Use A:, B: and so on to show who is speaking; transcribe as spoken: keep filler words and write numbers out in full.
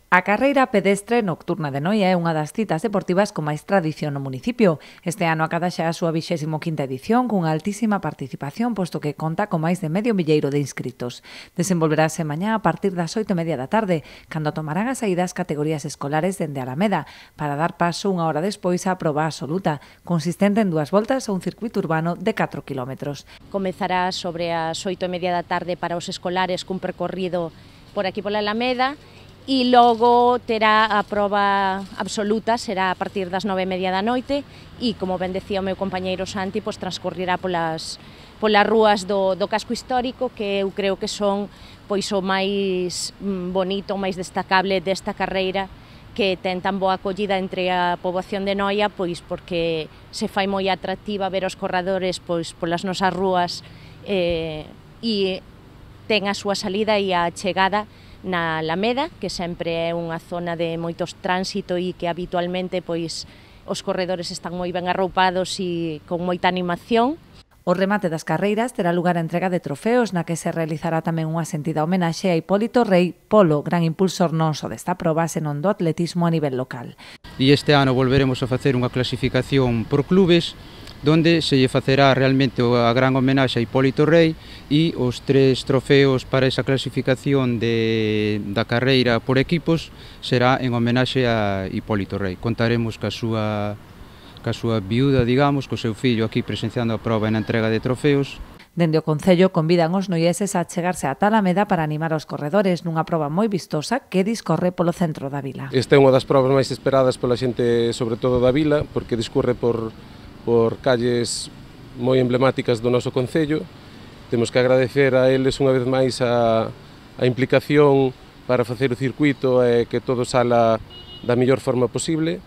A: A carreira pedestre nocturna de Noia é unha das citas deportivas con máis tradición no municipio. Este ano acada xa a súa vixésima quinta edición cunha altísima participación, posto que conta con máis de medio milleiro de inscritos. Desenvolverase mañá a partir das oito e media da tarde, cando tomarán a saída as categorías escolares dende Alameda, para dar paso unha hora despois á proba absoluta, consistente en dúas voltas a un circuito urbano de catro kilómetros.
B: Comezará sobre as oito e media da tarde para os escolares cun percorrido por aquí pola Alameda, e logo terá a proba absoluta, será a partir das nove e media da noite, e, como ben decía o meu compañeiro Santi, pois transcorrerá polas, polas rúas do, do casco histórico, que eu creo que son pois o máis bonito, o máis destacable desta carreira, que ten tan boa acollida entre a poboación de Noia, pois porque se fai moi atractiva ver os corredores pois polas nosas rúas, eh, e ten a súa salida e a chegada na Alameda, que sempre é unha zona de moitos tránsito e que habitualmente pois os corredores están moi ben arroupados e con moita animación.
A: O remate das carreiras terá lugar a entrega de trofeos, na que se realizará tamén unha sentida homenaxe a Hipólito Rei Polo, gran impulsor non só desta proba, senón do atletismo a nivel local.
C: E este ano volveremos a facer unha clasificación por clubes, donde se lle facerá realmente a gran homenaxe a Hipólito Rei e os tres trofeos para esa clasificación de, da carreira por equipos será en homenaxe a Hipólito Rei. Contaremos ca súa, ca súa viuda, digamos, co seu fillo aquí presenciando a proba na entrega de trofeos.
A: Dende o Concello convidan os noieses a chegarse a Alameda para animar os corredores nunha proba moi vistosa que discorre polo centro da vila.
D: Esta é unha das probas máis esperadas pola xente, sobre todo da vila, porque discorre por por calles moi emblemáticas do noso Concello. Temos que agradecer a eles unha vez máis a, a implicación para facer o circuito e que todo sala da mellor forma posible.